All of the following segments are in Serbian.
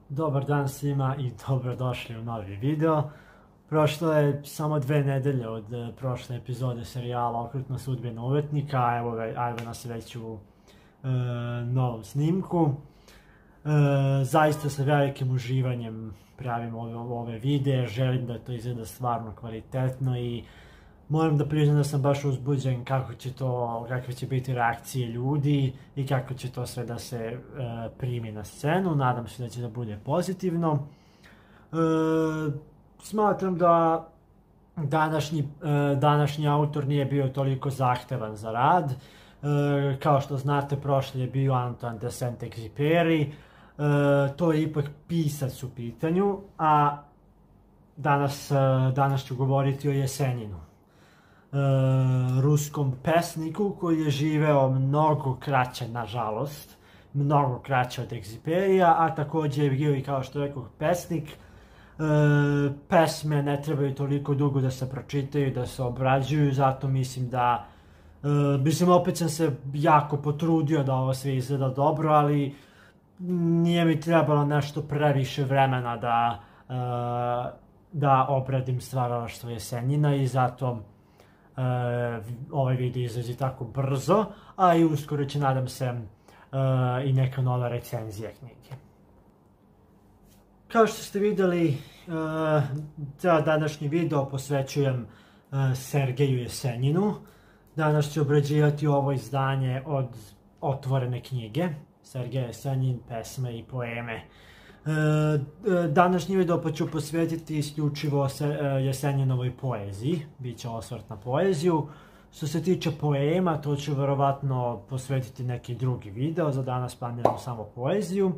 Dobar dan svima i dobrodošli u novi video. Prošlo je samo 2 nedelje od prošle epizode serijala Okrutna sudbina umetnika, a evo nas već u novom snimku. Zaista sa velikim uživanjem pravim ove videe, želim da to izgleda stvarno kvalitetno i moram da priznam da sam baš uzbuđen kakve će biti reakcije ljudi i kako će to sve da se primi na scenu. Nadam se da će da bude pozitivno. Smatram da današnji autor nije bio toliko zahtevan za rad. Kao što znate, prošli je bio Antoine de Saint-Exupéry. To je ipak pisac u pitanju, a danas ću govoriti o Jesenjinu, ruskom pesniku koji je živeo mnogo kraće, nažalost, mnogo kraće od Egziperija, a takođe je bio i, kao što rekoh, pesnik. Pesme ne trebaju toliko dugo da se pročitaju, da se obrađuju, zato mislim da opet sam se jako potrudio da ovo sve izgleda dobro, ali nije mi trebalo nešto previše vremena da obradim stvaralaštvo Jesenjina i zato ovaj video izlazi tako brzo, a i uskoro će, nadam se, i neka nova recenzija knjige. Kao što ste videli, današnji video posvećujem Sergeju Jesenjinu. Danas ću obrađivati ovo izdanje od otvorene knjige Sergej Jesenjin, pesme i poeme. Današnji video pa ću posvetiti isključivo Jesenjinovoj poeziji, bit će osvrt na poeziju. Što se tiče poema, to ću verovatno posvetiti neki drugi video, za danas planiram samo poeziju.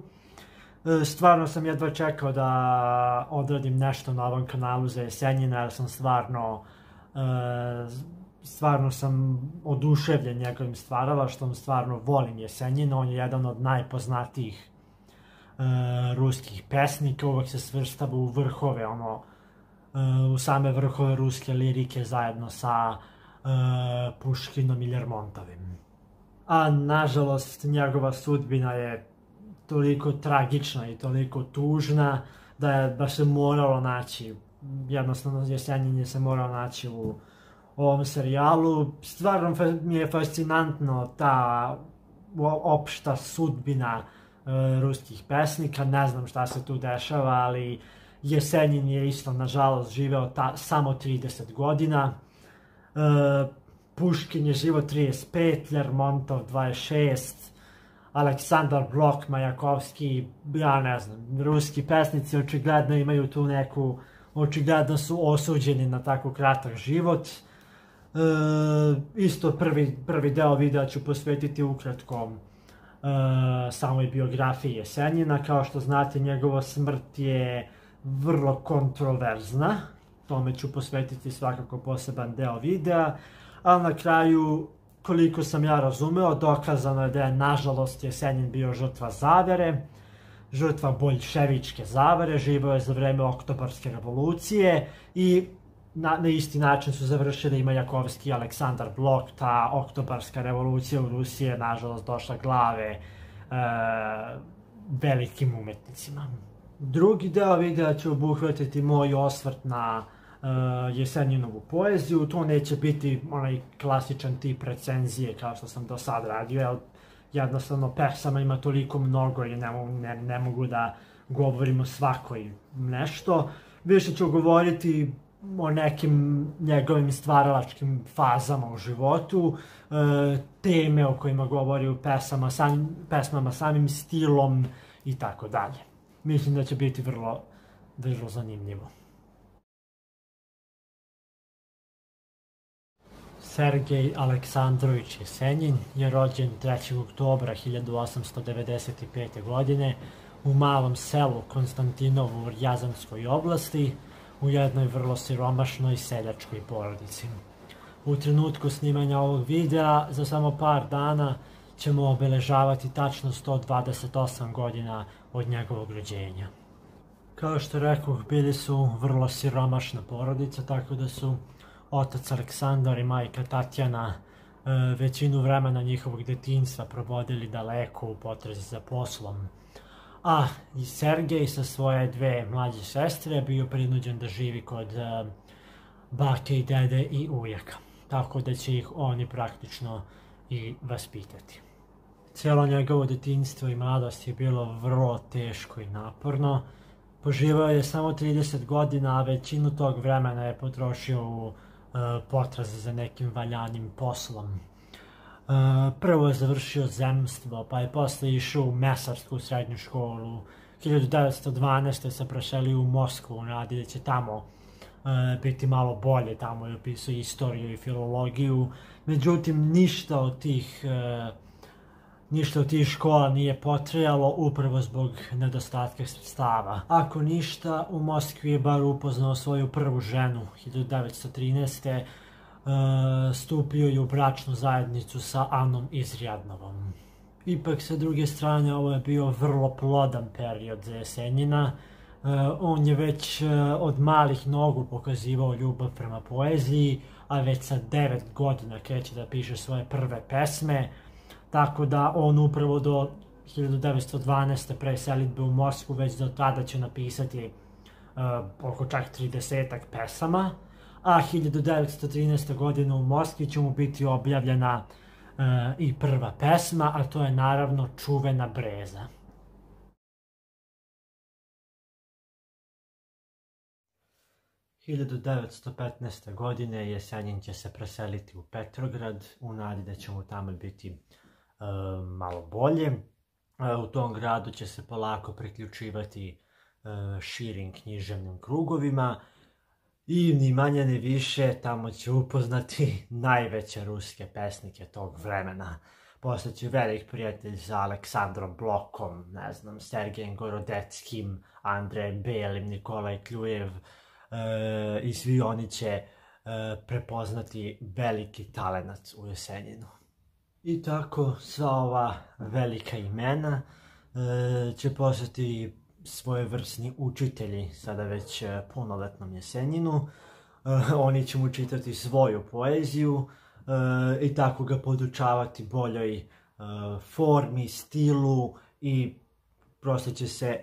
Stvarno sam jedva čekao da odradim nešto na ovom kanalu za Jesenjina, jer sam stvarno sam oduševljen njegovim stvaralaštvom, stvarno volim Jesenjina, on je jedan od najpoznatijih ruskih pesnika, uvek se svrstava u vrhove, u same vrhove ruske lirike zajedno sa Puškinom i Lermontovim. A nažalost njegova sudbina je toliko tragična i toliko tužna da se moralo naći, jednostavno Jesenjin je se morao naći u ovom serijalu. Stvarno mi je fascinantno ta opšta sudbina ruskih pesnika, ne znam šta se tu dešava, ali Jesenjin je isto, nažalost, živeo samo 30 godina. Puškin je živeo 35, Lermontov 26, Aleksandar Blok, Majakovski, ja ne znam, ruski pesnici očigledno imaju tu neku, očigledno su osuđeni na tako kratak život. Isto prvi deo videa ću posvetiti ukratko samoj biografiji Jesenjina. Kao što znate, njegova smrt je vrlo kontroverzna, tome ću posvetiti svakako poseban deo videa, ali na kraju, koliko sam ja razumeo, dokazano je da je, nažalost, Jesenjin bio žrtva zavere, žrtva boljševičke zavere, živeo je za vreme Oktobarske revolucije i na isti način su završili i Majakovski i Aleksandar Blok. Ta Oktobarska revolucija u Rusiji je, nažalost, došla glave velikim umetnicima. Drugi deo videa će obuhvatiti moj osvrt na Jesenjinovu poeziju. To neće biti onaj klasičan tip recenzije kao što sam do sad radio, jer jednostavno pesama ima toliko mnogo i ne mogu da govorim o svakoj nešto. Više ću govoriti o nekim njegovim stvaralačkim fazama u životu, teme o kojima govori u pesmama, samim stilom i tako dalje. Mislim da će biti vrlo zanimljivo. Sergej Aleksandrović Jesenjin je rođen 3. oktobra 1895. godine u malom selu Konstantinovu u Rjazanskoj oblasti, u jednoj vrlo siromašnoj seljačkoj porodici. U trenutku snimanja ovog videa, za samo par dana, ćemo obeležavati tačno 128 godina od njegovog rođenja. Kao što rekoh, bili su vrlo siromašna porodica, tako da su otac Aleksandar i majka Tatjana većinu vremena njihovog detinjstva provodili daleko u potrazi za poslom. A i Sergej sa svoje dve mlađe sestre je bio prinuđen da živi kod bake i dede i ujaka. Tako da će ih oni praktično i vaspitati. Cijelo njegovo detinjstvo i mladost je bilo vrlo teško i naporno. Poživao je samo 30 godina, a većinu tog vremena je potrošio u potrazi za nekim valjanim poslom. Prvo je završio zemstvo, pa je posle išao u mesarsku srednju školu. 1912. se preselio u Moskvu u nadi da će tamo biti malo bolje, tamo je upisao istoriju i filologiju. Međutim, ništa od tih škola nije potrajalo upravo zbog nedostatka sredstava. Ako ništa, u Moskvi je bar upoznao svoju prvu ženu. 1913. Stupio je u bračnu zajednicu sa Anom Izrjadnovom. Ipak, sa druge strane, ovo je bio vrlo plodan period za Jesenjina. On je već od malih nogu pokazivao ljubav prema poeziji, a već sa 9 godina kreće da piše svoje prve pesme, tako da on upravo do 1912. pre selidbe u Moskvu već do tada će napisati oko čak 30-ak pesama, a 1913. godine u Moskvi će mu biti objavljena i prva pesma, a to je naravno Čuvena breza. – 1915. godine Jesenjin će se preseliti u Petrograd u nadi da će mu tamo biti malo bolje. U tom gradu će se polako priključivati širim književnim krugovima i ni manje ni više tamo će upoznati najveće ruske pesnike tog vremena. Postaće velik prijatelj sa Aleksandrom Blokom, ne znam, Sergejem Gorodeckim, Andrejem Belim, Nikolaj Kljujev i svi oni će prepoznati veliki talenat u Jesenjinu. I tako sva ova velika imena će postati svojevrsni učitelji sada već punoletnom Jesenjinu. Oni će mu čitati svoju poeziju i tako ga podučavati boljoj formi, stilu i prosto će se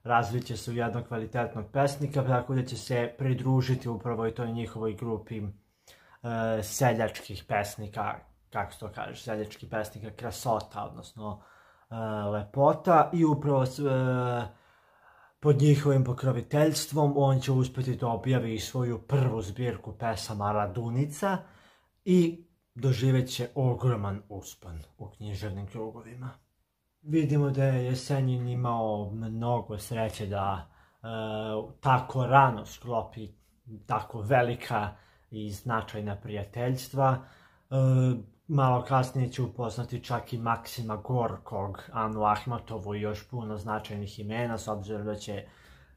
razvit će se u jednog kvalitetnog pesnika, tako da će se pridružiti upravo i toj njihovoj grupi seljačkih pesnika, kako se to kaže, seljačkih pesnika krasota, odnosno lepota, i upravo pod njihovim pokroviteljstvom on će uspjeti da objavi svoju prvu zbirku pesama Radunica i doživjet će ogroman uspon u književnim krugovima. Vidimo da je Jesenjin imao mnogo sreće da tako rano sklopi tako velika i značajna prijateljstva. Malo kasnije će upoznati čak i Maksima Gorkog, Anu Ahmatovu i još puno značajnih imena, s obzirom da će,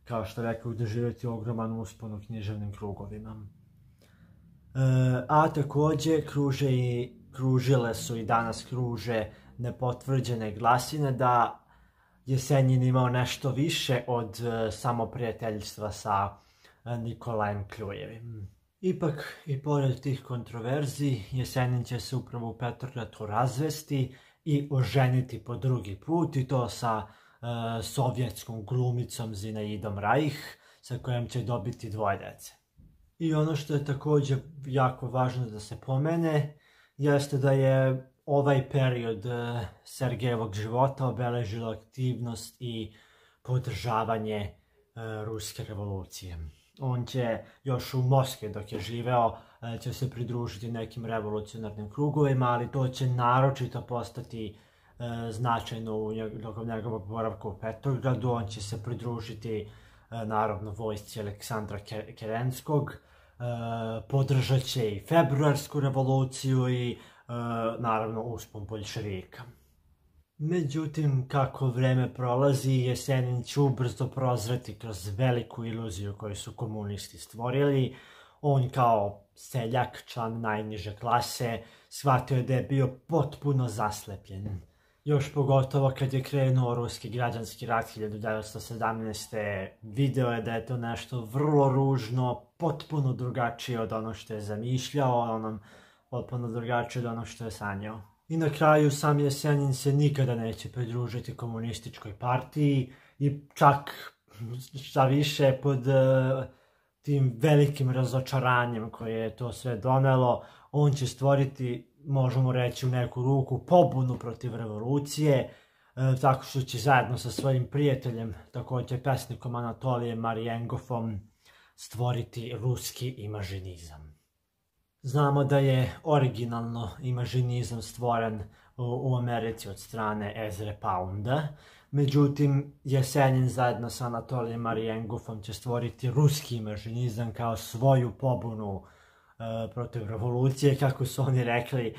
kao što rekao, doživjeti ogroman uspon u književnim krugovima. A također kružile su i danas kruže nepotvrđene glasine da Jesenjin imao nešto više od samo prijateljstva sa Nikolajem Kljujevim. Ipak, i pored tih kontroverzi, Jesenjin će se upravo u Petrogradu razvesti i oženiti po drugi put, i to sa sovjetskom glumicom Zinaidom Rajh, sa kojom će dobiti 2 dece. I ono što je također jako važno da se pomene, jeste da je ovaj period Sergejevog života obeležila aktivnost i podržavanje ruske revolucije. On će još u Moskvi, dok je živeo, će se pridružiti nekim revolucionarnim krugovima, ali to će naročito postati značajno tokom njegovog boravka u Petrogradu. On će se pridružiti naravno vojsci Aleksandra Kerenskog, podržat će i februarsku revoluciju i naravno uspon boljševika. Međutim, kako vreme prolazi, Jesenjin će ubrzo prozreti kroz veliku iluziju koju su komunisti stvorili. On kao seljak, član najniže klase, shvatio je da je bio potpuno zaslepljen. Još pogotovo kad je krenuo ruski građanski rat 1917. Video je da je to nešto vrlo ružno, potpuno drugačije od onog što je zamišljao, potpuno drugačije od onog što je sanjao. I na kraju sam Jesenjin se nikada neće pridružiti komunističkoj partiji i čak šta više pod tim velikim razočaranjem koje je to sve donelo, on će stvoriti, možemo reći u neku ruku, pobunu protiv revolucije, tako što će zajedno sa svojim prijateljem, također pesnikom Anatolijem Marijengovom, stvoriti ruski imažinizam. Znamo da je originalno imažinizam stvoren u Americi od strane Ezre Pounda, međutim Jesenjin zajedno sa Anatolijem Marijengovom će stvoriti ruski imažinizam kao svoju pobunu protiv revolucije, kako su oni rekli.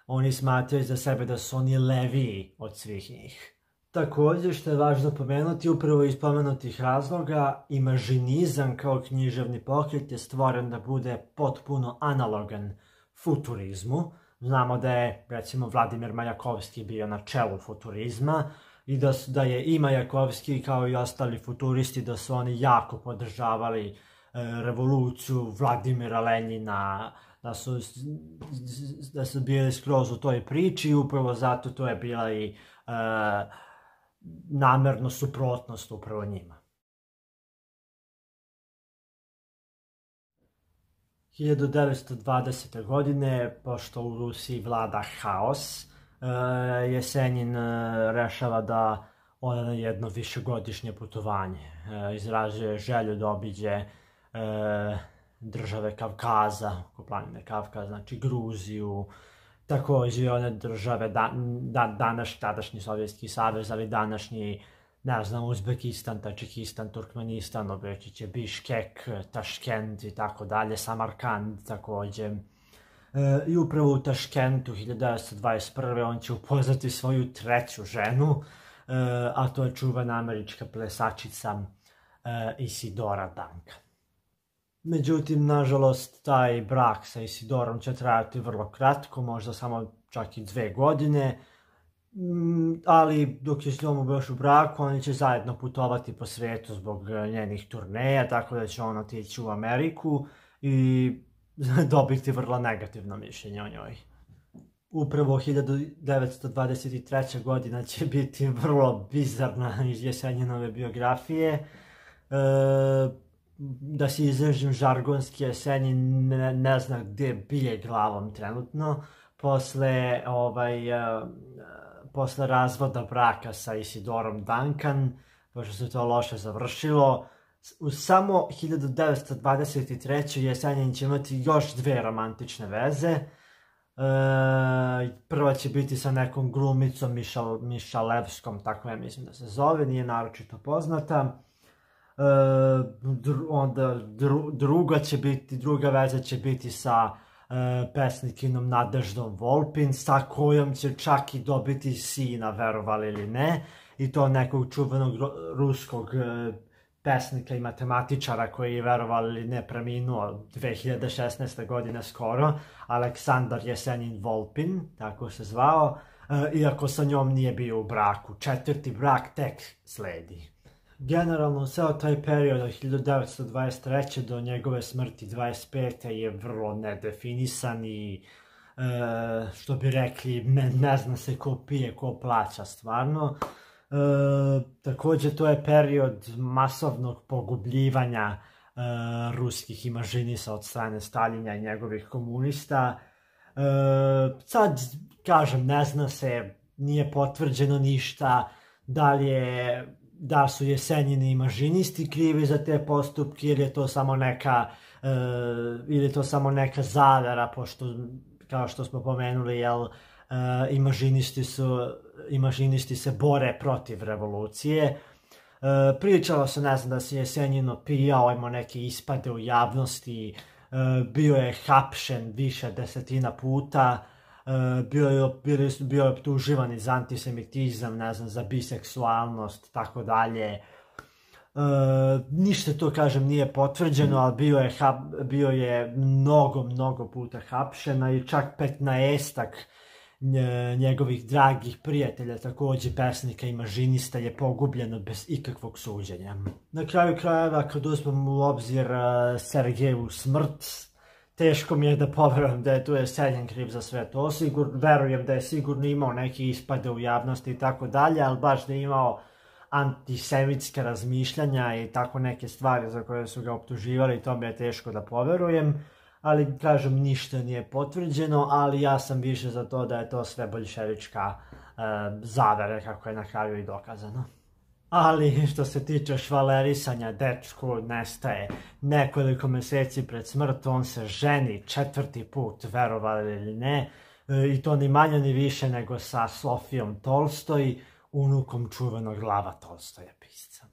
Oni smatraju za sebe da su oni leviji od svih njih. Također, što je važno pomenuti, upravo iz pomenutih razloga, imažinizam kao književni pokret je stvoren da bude potpuno analogan futurizmu. Znamo da je, recimo, Vladimir Majakovski bio na čelu futurizma i da je i Majakovski kao i ostali futuristi, da su oni jako podržavali revoluciju Vladimira Lenjina, da su bili skroz u toj priči i upravo zato to je bila i namerno suprotnost upravo njima. 1920. godine, pošto u Rusiji vlada haos, Jesenjin rešava da ode na jedno višegodišnje putovanje. Izrazio je želju da obiđe države Kavkaza, oko planine Kavkaz, znači Gruziju, također one države, tadašnji Sovjetski savez, ali današnji, ne znam, Uzbekistan, Tačikistan, Turkmenistan, obeći će Biškek, Taškent i tako dalje, Samarkand također. I upravo u Taškentu 1921. on će upoznati svoju treću ženu, a to je čuvena američka plesačica Isidora Duncan. Međutim, nažalost, taj brak sa Isidorom će trajati vrlo kratko, možda samo čak i 2 godine, ali dok je s njom još u braku, oni će zajedno putovati po svijetu zbog njenih turneja, tako da će on otići u Ameriku i dobiti vrlo negativno mišljenje o njoj. Upravo 1923. godina će biti vrlo bizarna iz Jesenjinove biografije. Da se izražim žargonski, Jesenjin ne zna gdje bije glavom trenutno. Posle razvoda braka sa Isidorom Duncan, pošto se to loše završilo, u samo 1923. Jesenjin će imati još 2 romantične veze. Prva će biti sa nekom glumicom Mišalevskom, tako ja mislim da se zove, nije naročito poznata. Onda druga veza će biti sa pesnikinom Nadeždom Volpin, sa kojom će čak i dobiti sina, verovali ili ne, i to nekog čuvenog ruskog pesnika i matematičara koji je, verovali ili ne, preminuo 2016. godine skoro, Aleksandar Jesenjin Volpin, tako se zvao, iako sa njom nije bio u braku. 4. brak tek sledi. Generalno, ceo taj period od 1923. do njegove smrti 25. je vrlo nedefinisan i, što bi rekli, ne zna se ko pije, ko plaća stvarno. Također, to je period masovnog pogubljivanja ruskih imažinista od strane Staljina i njegovih komunista. Sad, kažem, ne zna se, nije potvrđeno ništa, da su Jesenjini imažinisti krivi za te postupke ili je to samo neka zavera, pošto, kao što smo pomenuli, imažinisti se bore protiv revolucije. Pričalo se, ne znam, da se Jesenjin opijao, imao neke ispade u javnosti, bio je hapšen više desetina puta, bio je optuživan za antisemitizam, ne znam, za biseksualnost, tako dalje. Ništa to, kažem, nije potvrđeno, ali bio je mnogo puta hapšena i čak 15 njegovih dragih prijatelja, također pesnika i imažinista, je pogubljeno bez ikakvog suđenja. Na kraju krajeva, kad uzmemo u obzir Sergejevu smrt, teško mi je da poverujem da je tu Jesenjin kriv za sve to. Verujem da je sigurno imao neke ispade u javnosti i tako dalje, ali baš da je imao antisemitska razmišljanja i tako neke stvari za koje su ga optuživali, to mi je teško da poverujem. Ali, kažem, ništa nije potvrđeno, ali ja sam više za to da je to sve boljševička zavere, kako je na kraju i dokazano. Ali, što se tiče švalerisanja, dečko nestaje nekoliko meseci pred smrt, on se ženi 4. put, verovali ili ne, i to ni manje ni više nego sa Sofijom Tolstoj, unukom čuvenog Lava Tolstoja pisca.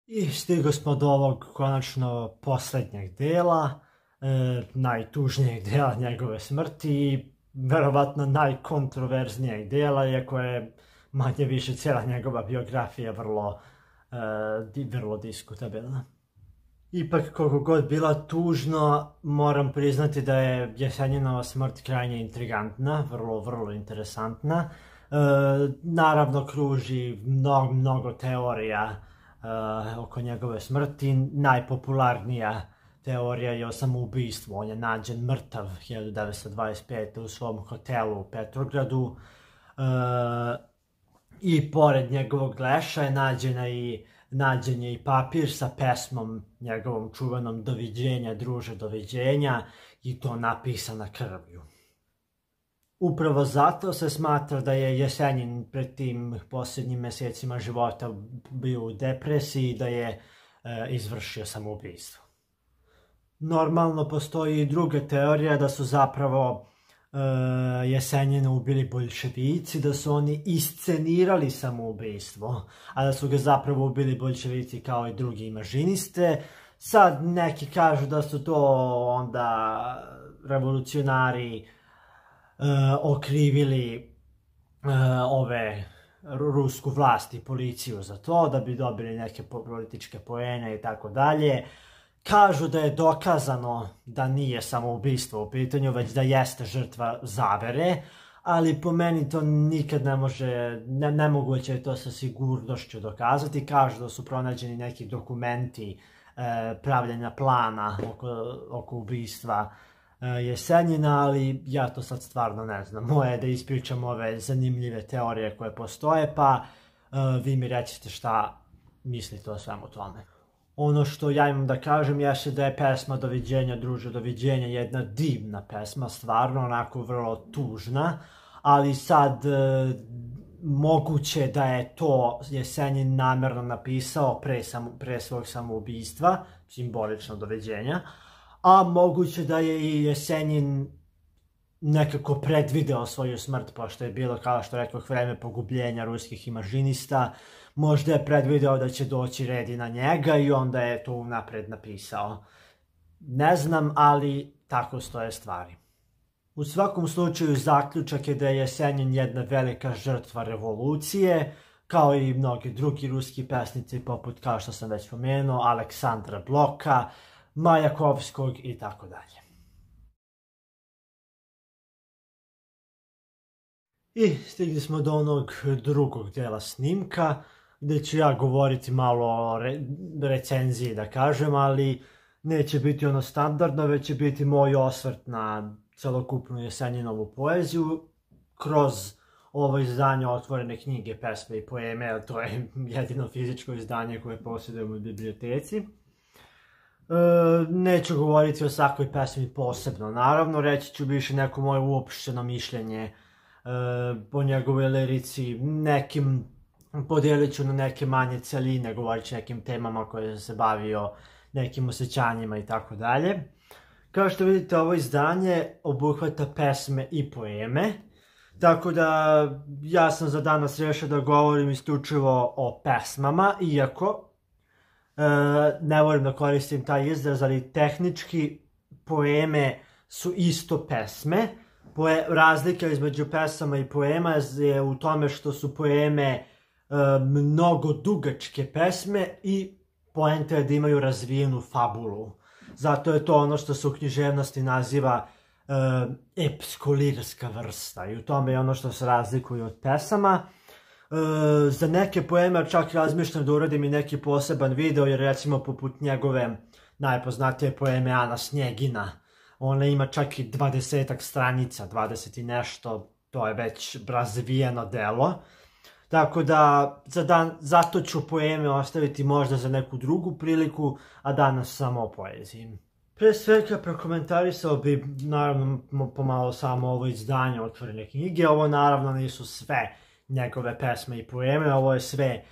I stigo smo do ovog konačno poslednjeg dela, najtužnijeg dela njegove smrti i verovatno najkontroverznijeg dela, iako je manje više cijela njegova biografija vrlo diskutabilna. Ipak, koliko god bila tužno, moram priznati da je Jesenjinova smrt krajnje intrigantna, vrlo interesantna. Naravno, kruži mnogo teorija oko njegove smrti. Najpopularnija teorija je o samoubistvu. On je nađen mrtav 1925. u svom hotelu u Petrogradu i pored njegovog leša je nađen je i papir sa pesmom njegovom čuvenom "Doviđenja, druže, doviđenja", i to napisana krvlju. Upravo zato se smatra da je Jesenjin pred tim posljednjim mesecima života bio u depresiji i da je izvršio samoubistvo. Normalno, postoji i druga teorija da su zapravo Jesenjina ubili boljševici, da su oni iscenirali samoubistvo, a da su ga zapravo ubili boljševici kao i drugi imažiniste. Sad neki kažu da su to onda revolucionari okrivili rusku vlast i policiju za to, da bi dobili neke političke poene i tako dalje. Kažu da je dokazano da nije samoubistvo u pitanju, već da jeste žrtva zavere, ali po meni to nikad nemoguće je to sa sigurnošću dokazati. Kažu da su pronađeni neki dokumenti pravljenja plana oko ubistva Jesenjina, ali ja to sad stvarno ne znam. Moje je da ispričam ove zanimljive teorije koje postoje, pa vi mi recite šta mislite o svemu tome. Ono što ja imam da kažem jeste da je pesma "Doviđenja, druže, doviđenja" jedna divna pesma, stvarno onako vrlo tužna, ali sad moguće da je to Jesenjin namerno napisao pre svog samoubistva, simbolično doviđenja, a moguće da je i Jesenjin nekako predvideo svoju smrt, pošto je bilo, kao što rekoh, vreme pogubljenja ruskih imažinista. Možda je predvideo da će doći red i na njega i onda je to unapred napisao. Ne znam, ali tako stoje stvari. U svakom slučaju, zaključak je da je Jesenjin jedna velika žrtva revolucije, kao i mnogi drugi ruski pesnici, poput, kao što sam već spomenuo, Aleksandra Bloka, Majakovskog i tako dalje. I stigli smo do onog drugog dela snimka, gde ću ja govoriti malo o recenziji, da kažem, ali neće biti ono standardno, već će biti moj osvrt na celokupnu Jesenjinovu poeziju kroz ovo izdanje Otvorene knjige, pesme i poeme, jer to je jedino fizičko izdanje koje posjedujemo u biblioteci. Neću govoriti o svakoj pesmi posebno, naravno, reći ću više neko moje uopšteno mišljenje po njegovoj lirici, podijelit ću na neke manje celine, govorit ću nekim temama koje sam se bavio, nekim osjećanjima i tako dalje. Kao što vidite, ovo izdanje obuhvata pesme i poeme, tako da ja sam za danas rešio da govorim isključivo o pesmama, iako ne volim da koristim taj izraz, ali tehnički poeme su isto pesme. Razlika između pesama i poema je u tome što su poeme mnogo dugačke pesme i poenta je da imaju razvijenu fabulu. Zato je to ono što se u književnosti naziva epsko-lirska vrsta i u tome je ono što se razlikuje od pesama. Za neke poeme čak razmišljam da uradim i neki poseban video, jer recimo poput njegove najpoznatije poeme Ana Snjegina, ona ima čak i 20-ak stranica, 20 i nešto, to je već razvijeno delo. Tako da zato ću poeme ostaviti možda za neku drugu priliku, a danas samo o poeziji. Pre svega prokomentarisao bi naravno pomalo samo ovo izdanje Otvorene knjige. Ovo naravno nisu sve njegove pesme i poeme, ovo je sve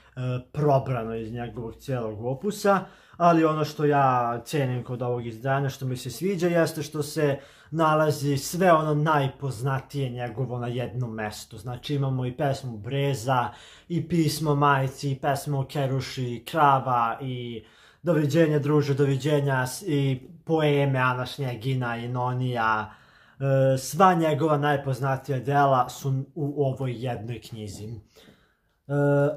probrano iz njegovog cijelog opusa, ali ono što ja cenim kod ovog izdanja, što mi se sviđa, jeste što se nalazi sve ono najpoznatije njegovo na jednom mestu. Znači imamo i pesmu Breza, i pismo majci, i pesmu o Keruši, Krava, i Doviđenja druže, doviđenja, i poeme Ana Snjegina i Nonija. Sva njegova najpoznatija dela su u ovoj jednoj knjizi.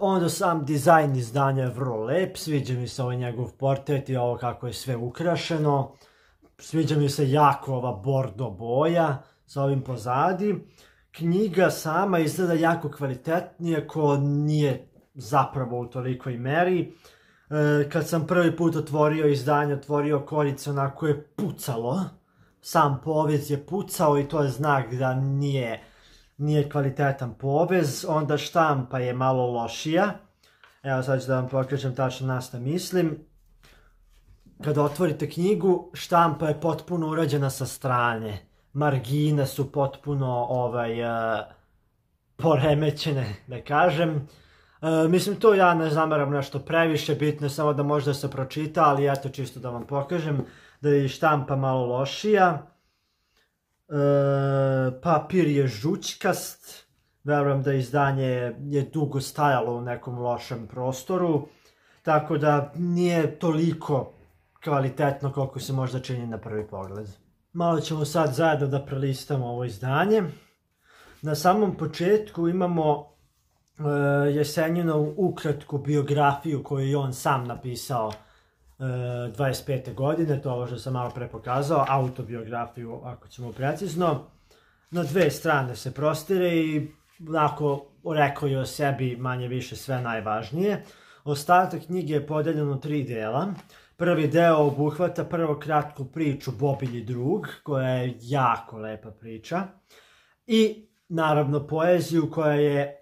Onda sam dizajn izdanja je vrlo lep, sviđa mi se ovaj njegov portret i ovo kako je sve ukrašeno. Sviđa mi se jako ova bordo boja sa ovim pozadi. Knjiga sama izgleda jako kvalitetnije, ko nije zapravo u tolikoj meri. Kad sam prvi put otvorio izdanje, otvorio korice, onako je pucalo. Sam povez je pucao i to je znak da nije kvalitetan povez. Onda štampa je malo lošija. Evo sad ću da vam pokažem tačno na šta mislim. Kada otvorite knjigu, štampa je potpuno urađena sa strane. Margine su potpuno poremećene, da kažem. Mislim, to ja ne zameram nešto previše, bitno je samo da možda se pročita, ali eto čisto da vam pokažem da je štampa malo lošija. Papir je žućkast, verujem da izdanje je dugo stajalo u nekom lošem prostoru, tako da nije toliko kvalitetno koliko se možda čini na prvi pogled. Malo ćemo sad zajedno da prelistamo ovo izdanje. Na samom početku imamo Jesenjinovu ukratku biografiju koju je on sam napisao 25. godine, to je ovo što sam malo pre pokazao, autobiografiju ako ćemo precizno. Na 2 strane se prostire i onako rekao je o sebi manje više sve najvažnije. Ostatak knjige je podeljen u 3 dela. Prvi deo obuhvata prvo kratku priču Bobilji drug, koja je jako lepa priča, i naravno poeziju koja je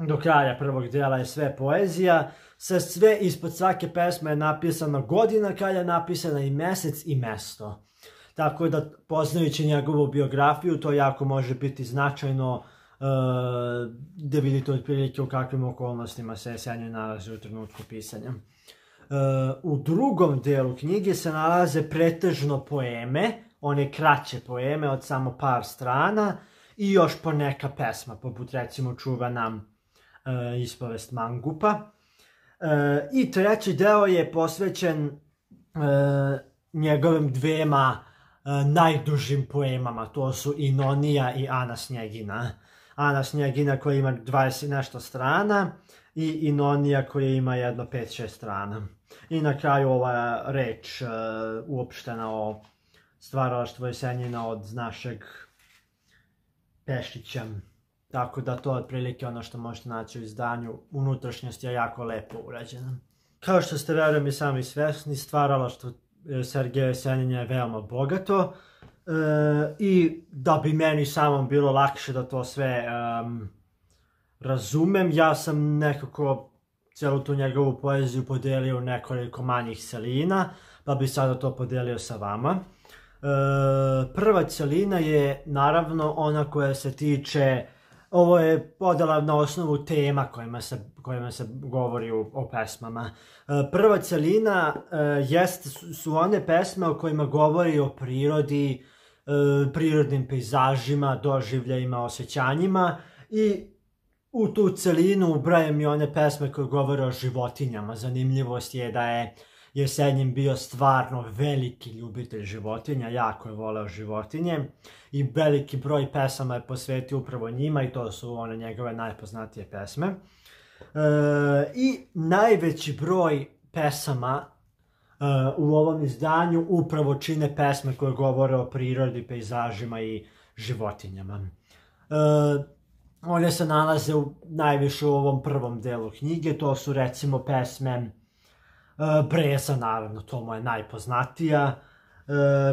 do kraja prvog dela je sve poezija, sa sve ispod svake pesme je napisana godina kada je napisana i mesec i mesto. Tako da, poznajući njegovu biografiju, to jako može biti značajno da vidite otprilike u kakvim okolnostima se Jesenjin nalazi u trenutku pisanja. U drugom delu knjige se nalaze pretežno poeme, one kraće poeme od samo par strana, i još poneka pesma, poput recimo čuvana Ispovest mangupa. I treći deo je posvećen njegovim 2 najdužim poemama, to su i Nonija i Ana Snjegina. Ana Snjegina koja ima 20 nešto strana i Nonija koja ima jedno 5-6 strana. I na kraju ova reč uopštena o stvaralaštvu Jesenjina od našeg Pešića. Tako da to je otprilike ono što možete naći u izdanju. Unutrašnjost je jako lepo urađena. Kao što ste verujem i sami svesni, stvaralaštvo Sergeja Jesenjina je veoma bogato i da bi meni samom bilo lakše da to sve razumem, ja sam nekako cijelu tu njegovu poeziju podelio u nekoliko manjih celina, pa bi sada to podelio sa vama. Prva celina je naravno ona koja se tiče, ovo je podela na osnovu tema kojima se govori o pesmama. Prva celina su one pesme o kojima govori o prirodi, prirodnim pejzažima, doživljajima, osjećanjima, i u tu celinu ubrajam i one pesme koje govore o životinjama. Zanimljivost je da je Jesenjin bio stvarno veliki ljubitelj životinja, jako je voleo životinje i veliki broj pesama je posvetio upravo njima i to su one njegove najpoznatije pesme. I najveći broj pesama u ovom izdanju upravo čine pesme koje govore o prirodi, pejzažima i životinjama. One se nalaze najviše u ovom prvom delu knjige, to su recimo pesme Breza, naravno, to mu je najpoznatija.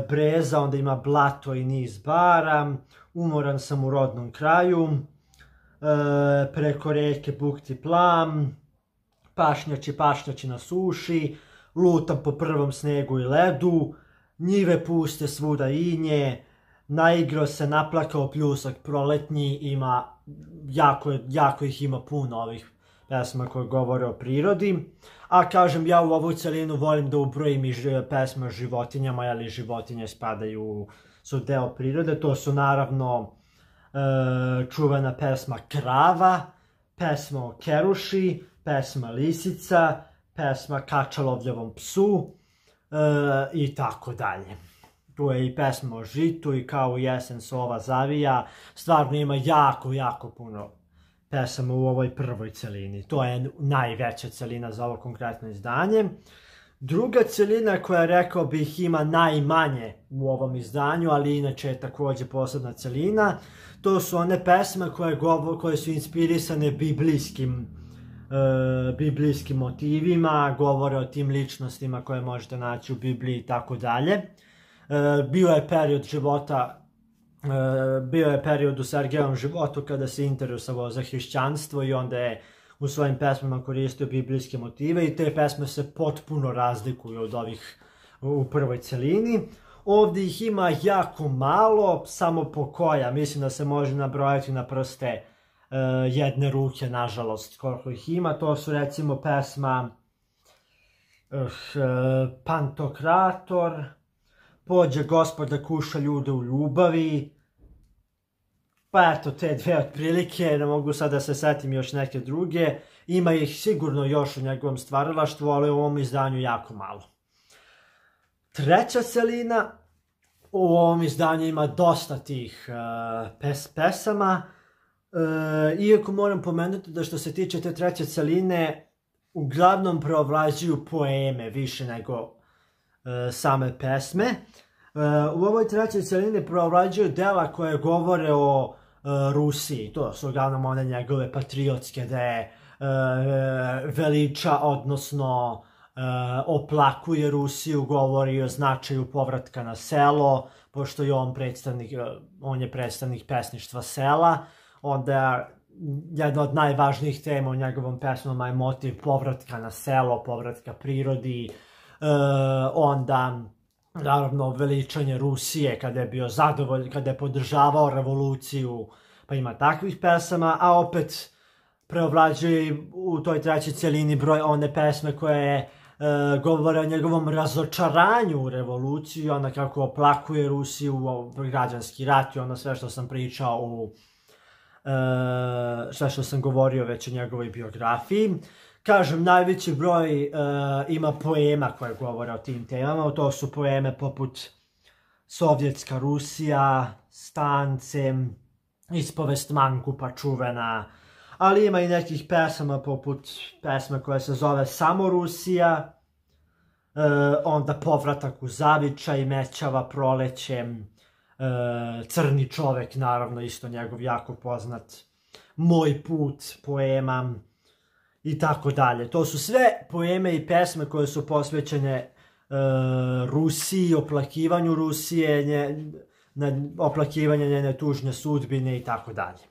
Breza, onda ima Blato i niz bara, Umoran sam u rodnom kraju, Preko reke bukti plam, Pašnjači na suši, Lutam po prvom snegu i ledu, Njive puste svuda inje, Naigro se, naplakao pljusak proletnji. Ima jako ih ima puno ovih pesma koje govore o prirodi. A kažem, ja u ovu celinu volim da ubrojim i pesme o životinjama, ali životinje su deo prirode. To su naravno čuvena pesma Krava, pesma o Keruši, pesma Lisica, pesma Kačalovljevom psu i tako dalje. Tu je i pesma o žitu i Kao u jesen sova zavija. Stvarno ima jako puno pesama u ovoj prvoj celini. To je najveća celina za ovo konkretno izdanje. Druga celina koja, rekao bih, ima najmanje u ovom izdanju, ali inače je takođe posebna celina, to su one pesme koje su inspirisane biblijskim motivima, govore o tim ličnostima koje možete naći u Bibliji i tako dalje. Bio je period u Sergejevom životu kada se interesovao za hrišćanstvo i onda je u svojim pesmama koristio biblijske motive i te pesme se potpuno razlikuju od ovih u prvoj celini. Ovdje ih ima jako malo, samo po koja, mislim da se može nabrojati na prste jedne ruke, nažalost, koliko ih ima. To su recimo pesma Pantokrator, Pođe Gospod da kuša ljude u ljubavi. Pa eto, te dve otprilike, ne mogu sad da se setim još neke druge. Ima ih sigurno još u njegovom stvaralaštvu, ali u ovom izdanju jako malo. Treća celina, u ovom izdanju ima dosta tih pesama, iako moram pomenuti da što se tiče te treće celine, uglavnom preovlađuju poeme više nego same pesme. U ovoj trećoj celini preovlađuju dela koje govore o Rusiji. To su uglavnom one njegove patriotske, da je veliča, odnosno oplakuje Rusiju, govori o značaju povratka na selo, pošto je on je predstavnik pesništva sela. Onda jedna od najvažnijih tema u njegovom pesmama je motiv povratka na selo, povratka prirodi, onda naravno veličanje Rusije kada je bio zadovoljan, kada je podržavao revoluciju, pa ima takvih pesama, a opet preovlađuje u toj trećoj celini broj one pesme koje govore o njegovom razočaranju u revoluciju, onda kako oplakuje Rusiju, građanski rat i ono sve što sam pričao sve što sam govorio već o njegovoj biografiji. Kažem, najveći broj ima poema koje govore o tim temama, to su poeme poput Sovjetska Rusija, Stance, Ispovest mangupa čuvena, ali ima i nekih pesama poput pesme koja se zove Samo Rusija, onda Povratak u zavičaj, Mećava proleće, Crni čovek, naravno isto njegov jako poznat, Moj put poema i tako dalje. To su sve poeme i pesme koje su posvećene Rusiji, oplakivanju Rusije, oplakivanje njene tužne sudbine i tako dalje.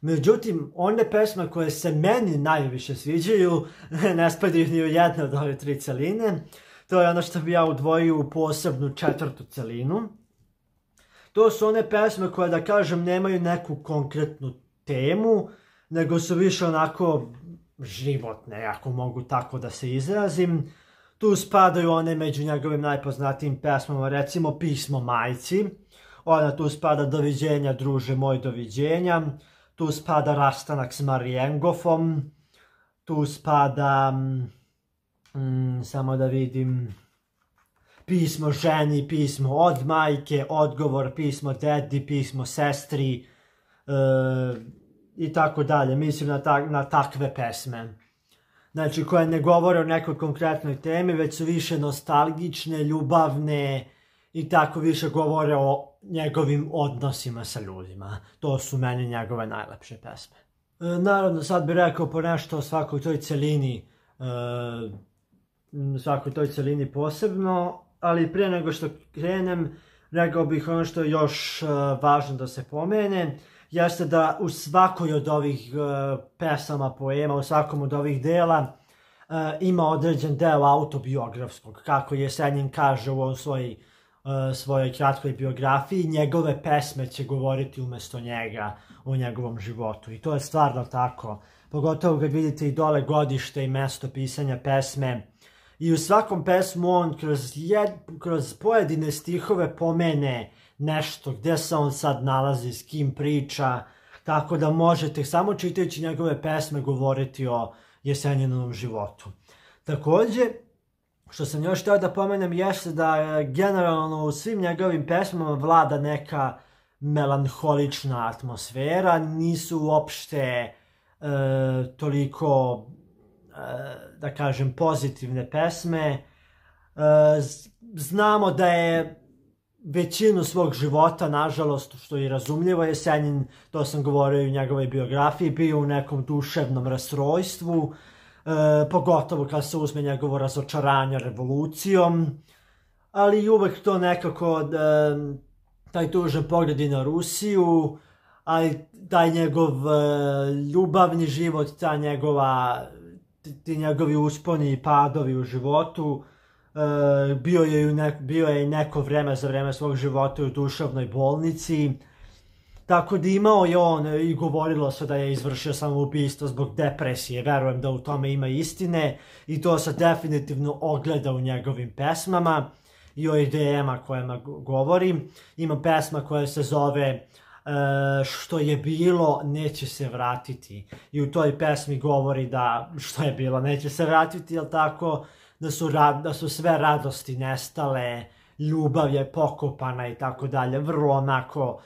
Međutim, one pesme koje se meni najviše sviđaju ne spadaju ni u jednu od ove tri celine. To je ono što bi ja udvojio u posebnu četvrtu celinu. To su one pesme koje, da kažem, nemaju neku konkretnu temu, nego su više onako životne, ako mogu tako da se izrazim. Tu spadaju one među njegovim najpoznatijim pesmama, recimo Pismo majci. Ona tu spada Doviđenja druže moj, doviđenja. Tu spada Rastanak s Marijengofom. Tu spada, samo da vidim, Pismo ženi, pismo od majke, odgovor, pismo dedi, pismo sestri i tako dalje. Mislim na takve pesme. Znači, koje ne govore o nekoj konkretnoj temi, već su više nostalgične, ljubavne i tako više govore o njegovim odnosima sa ljudima. To su meni njegove najlepše pesme. Naravno, sad bih rekao po nešto o svakoj toj celini posebno, ali prije nego što krenem, rekao bih ono što je još važno da se pomene, jeste da u svakoj od ovih pesama, poema, u svakom od ovih dela ima određen deo autobiografskog, kako Jesenjin kaže u ovom svojoj kratkoj biografiji, njegove pesme će govoriti umjesto njega o njegovom životu. I to je stvarno tako. Pogotovo kad vidite i dole godište i mesto pisanja pesme. I u svakom pesmu on kroz pojedine stihove pomene nešto, gdje se on sad nalazi, s kim priča, tako da možete samo čitajući njegove pesme govoriti o Jesenjinovom životu. Također, što sam još htio da pomenem, jeste da generalno u svim njegovim pesmama vlada neka melanholična atmosfera, nisu uopšte toliko, da kažem, pozitivne pesme. Znamo da je većinu svog života, nažalost, što je razumljivo, Jesenjin, to sam govorio i u njegovoj biografiji, bio u nekom duševnom rastrojstvu, pogotovo kad se uzme njegovo razočaranje revolucijom, ali uvek to nekako, taj tužan pogled i na Rusiju, ali taj njegov ljubavni život, ti njegovi usponi i padovi u životu, bio je i neko vreme za vreme svog života u duševnoj bolnici, tako da imao je on i govorilo se da je izvršio samoubistvo zbog depresije, verujem da u tome ima istine i to se definitivno ogleda u njegovim pesmama i o idejama kojima govorim. Ima pesma koja se zove Što je bilo neće se vratiti i u toj pesmi govori da što je bilo neće se vratiti, jel tako, da su sve radosti nestale, ljubav je pokopana i tako dalje, vrlo onako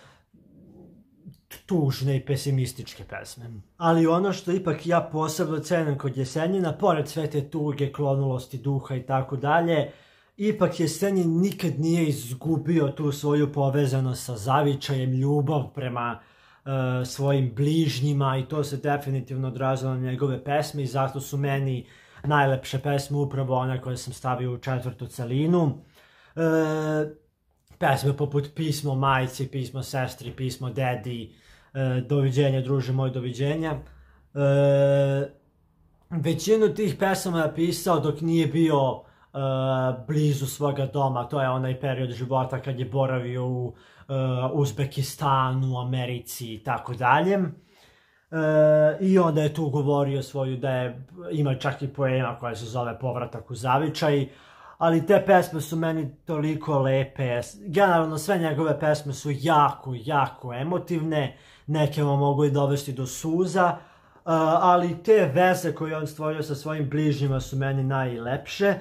tužne i pesimističke pesme. Ali ono što ipak ja posebno cenim kod Jesenjina, pored sve te tuge, klonulosti duha i tako dalje, ipak Jesenjin nikad nije izgubio tu svoju povezanost sa zavičajem, ljubav prema svojim bližnjima i to se definitivno odrazilo na njegove pesme i zato su meni najlepše pesme upravo one koje sam stavio u četvrtu celinu. Pesme poput Pismo majci, Pismo sestri, Pismo dedi, Doviđenja druže moj, doviđenja. Većinu tih pesama je pisao dok nije bio blizu svoga doma, to je onaj period života kad je boravio u Uzbekistanu, Americi i tako dalje. I onda je tu govorio ima čak i poema koja se zove Povratak u zavičaj, ali te pesme su meni toliko lepe. Generalno sve njegove pesme su jako, jako emotivne, neke vam mogu i dovesti do suza, ali te veze koje on stvorio sa svojim bližnjima su meni najlepše.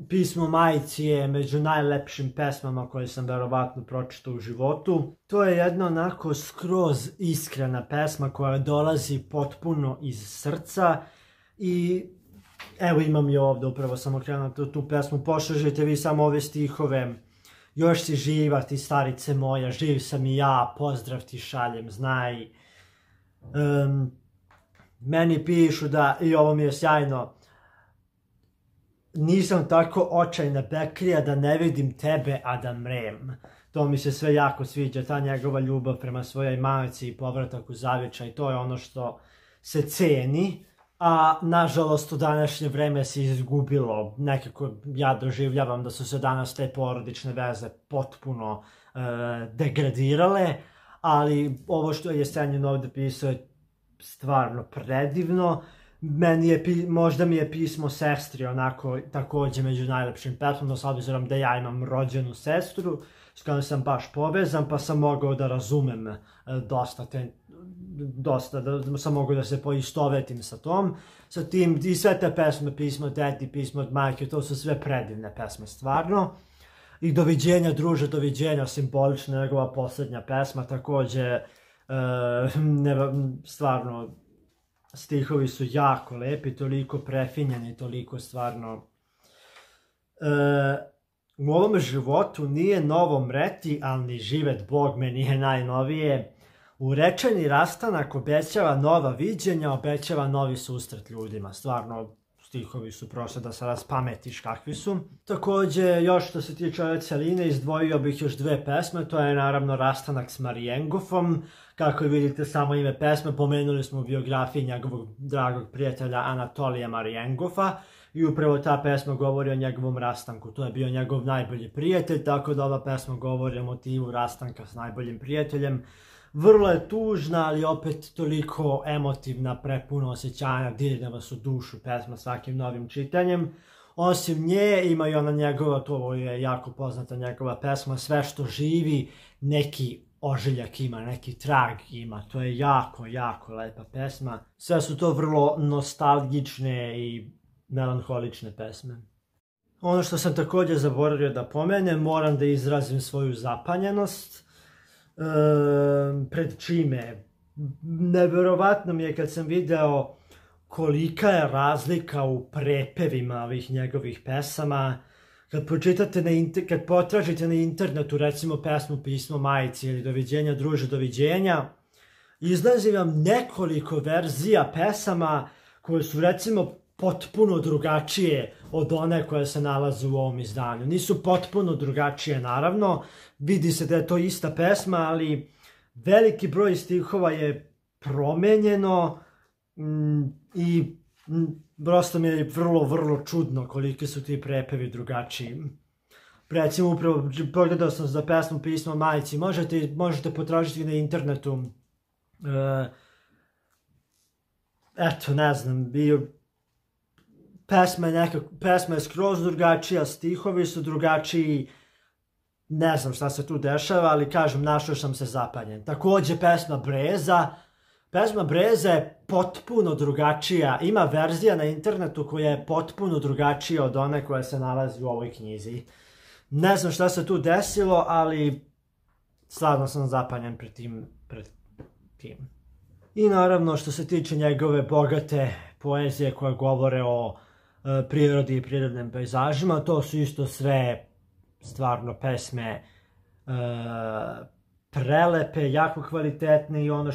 Pismo majci je među najlepšim pesmama koje sam verovatno pročitao u životu. To je jedna onako skroz iskrena pesma koja dolazi potpuno iz srca i evo imam je ovdje, upravo sam okrenuo tu pesmu, poslušajte vi samo ove stihove. Još si živa ti starice moja, živ sam i ja, pozdrav ti šaljem, znaj. Meni pišu da, i ovo mi je sjajno, nisam tako očajna bekrija da ne vidim tebe, a da mrem. To mi se sve jako sviđa, ta njegova ljubav prema svojoj majci i povratak u zavičaj, to je ono što se ceni, a nažalost u današnje vreme se izgubilo. Nekako ja doživljavam da su se danas te porodične veze potpuno degradirale, ali ovo što je Jesenjin ovdje pisao je stvarno predivno. Možda mi je Pismo sestri onako također među najlepšim pesmama, s obzirom da ja imam rođenu sestru s kojom sam baš povezan, pa sam mogao da razumem dosta, da sam mogao da se poistovetim sa tim i sve te pesme, Pismo dedi, Pismo od majke, to su sve predivne pesme stvarno. I Doviđenja druže, doviđenja, simbolična njegova posljednja pesma, također stvarno stihovi su jako lepi, toliko prefinjeni, toliko stvarno U ovom životu nije novo mreti, ali ni živet Bog me nije najnovije. Urečeni rastanak obećava nova viđenja, obećava novi susret ljudima. Stvarno, stihovi su prosto da se raspametiš kakvi su. Također, još što se tiče ove celine, izdvojio bih još dve pesme. To je naravno Rastanak s Marijengofom. Kako vidite samo ime pesme, pomenuli smo u biografiji njegovog dragog prijatelja Anatolija Marijengofa. I upravo ta pesma govori o njegovom rastanku. To je bio njegov najbolji prijatelj, tako da ova pesma govori o motivu rastanka s najboljim prijateljem. Vrlo je tužna, ali opet toliko emotivna, prepuno osjećanja, dirne vas u dušu pesma svakim novim čitanjem. Osim nje ima i ona njegova, to je jako poznata njegova pesma, Sve što živi, neki ožiljak ima, neki trag ima. To je jako, jako lepa pesma. Sve su to vrlo nostalgične i melanholične pesme. Ono što sam također zaboravio da pomenem, moram da izrazim svoju zapanjenost. Pred čime? Neverovatno mi je kad sam video kolika je razlika u prepevima ovih njegovih pesama. Kad potražite na internetu recimo pesmu Pismo majici ili Doviđenja druže, doviđenja, izlazi vam nekoliko verzija pesama koje su recimo potpuno drugačije od one koje se nalaze u ovom izdanju. Nisu potpuno drugačije, naravno. Vidi se da je to ista pesma, ali veliki broj stihova je promenjeno i prosto mi je vrlo, vrlo čudno koliki su ti prepevi drugačiji. Recimo, upravo pogledao sam za pesmu Pismo majici. Možete potražiti na internetu. Eto, ne znam, pesma je skroz drugačija, stihovi su drugačiji, ne znam šta se tu dešava, ali kažem, našao sam se zapanjen. Također pesma Breza je potpuno drugačija, ima verzija na internetu koja je potpuno drugačija od one koja se nalazi u ovoj knjizi. Ne znam šta se tu desilo, ali stvarno sam zapanjen pred tim. I naravno što se tiče njegove bogate poezije koje govore o prirodi i prirodnim pejzažima, to su isto sve stvarno pesme prelepe, jako kvalitetne i ono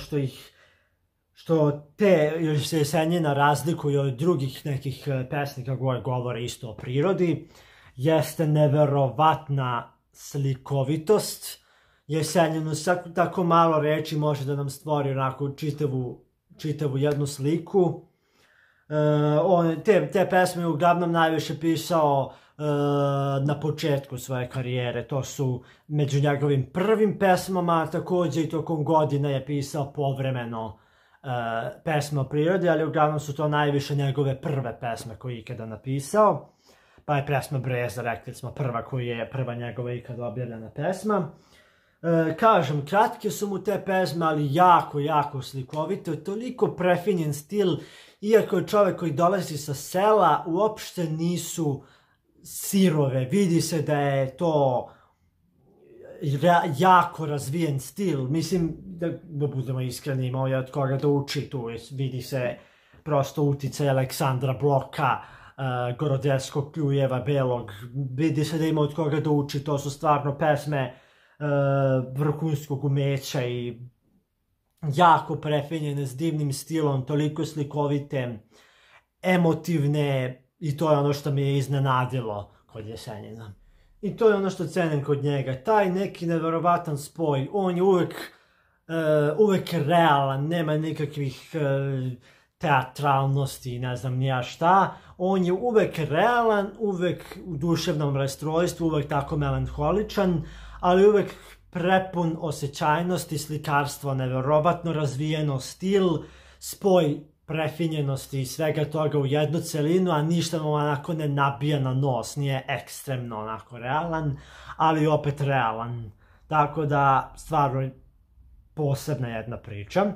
što te se Jesenjina razlikuje od drugih nekih pesnika koje govore isto o prirodi, jeste neverovatna slikovitost. Jesenjinu sa tako malo reči može da nam stvori onako čitavu jednu sliku. Te pesme uglavnom najviše pisao na početku svoje karijere. To su među njegovim prvim pesmama, također i tokom godina je pisao povremeno pesme o prirodi, ali uglavnom su to najviše njegove prve pesme koje je ikada napisao. Pa je pesma Breza, rekli smo, prva njegova ikada objavljena pesma. Kažem, kratke su mu te pesme, ali jako, jako slikovite, toliko prefinjen stil, iako je čovjek koji dolazi sa sela, uopšte nisu sirove, vidi se da je to jako razvijen stil, mislim, da budemo iskreni, imao je od koga da uči tu, vidi se prosto uticaj Aleksandra Bloka, Gorodevskog, Kljujeva, Belog, vidi se da ima od koga da uči, to su stvarno pesme vrhunskog umeća i jako prefinjene s divnim stilom, toliko slikovite, emotivne i to je ono što mi je iznenadilo kod Jesenjina. I to je ono što cenim kod njega, taj neki neverovatan spoj, on je uvek realan, nema nikakvih teatralnosti, ne znam nija šta, on je uvek realan, uvek u duševnom rastrojstvu, uvek tako melanholičan, ali uvek prepun osjećajnosti, slikarstvo, neverovatno razvijeno stil, spoj prefinjenosti i svega toga u jednu celinu, a ništa mu onako ne nabija na nos, nije ekstremno onako realan, ali opet realan. Tako da, stvarno posebna jedna priča.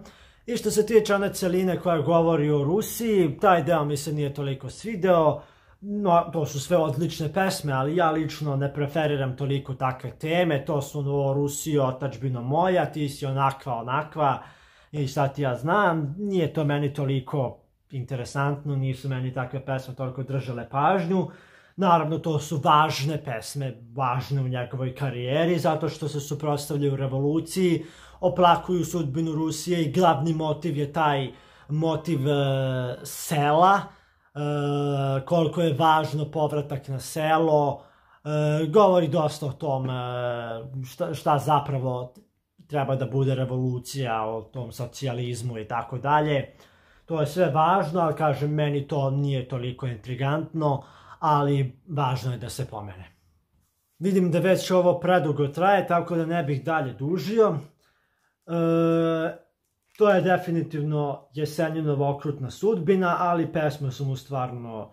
I što se tiče one celine koja govori o Rusiji, taj deo mi se nije toliko svideo, no, to su sve odlične pesme, ali ja lično ne preferiram toliko takve teme, to su o Rusiji, otadžbino moja, ti si onakva, i šta ti ja znam, nije to meni toliko interesantno, nisu meni takve pesme toliko držale pažnju, Naravno, to su važne pesme, važne u njegovoj karijeri, zato što se suprotstavljaju revoluciji, oplakuju sudbinu Rusije i glavni motiv je taj motiv sela, koliko je važno povratak na selo, govori dosta o tom šta zapravo treba da bude revolucija, o tom socijalizmu i tako dalje. To je sve važno, ali kažem, meni to nije toliko intrigantno, ali važno je da se pomene. Vidim da već ovo predugo traje, tako da ne bih dalje dužio. To je definitivno Jesenjinova okrutna sudbina, ali pesme su mu stvarno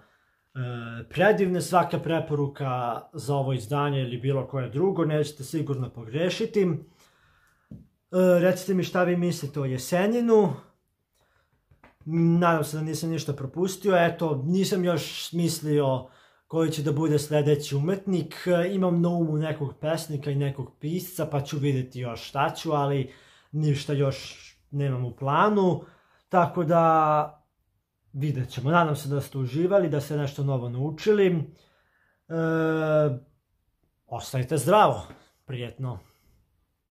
predivne. Svaka preporuka za ovo izdanje ili bilo koje drugo, nećete sigurno pogrešiti. Recite mi šta vi mislite o Jesenjinu. Nadam se da nisam ništa propustio. Eto, nisam još smislio koji će da bude sljedeći umetnik. Imam na umu nekog pesnika i nekog pisca, pa ću vidjeti još šta ću, ali ništa još nemam u planu. Tako da vidjet ćemo. Nadam se da ste uživali, da ste nešto novo naučili. Ostajte zdravo. Prijetno.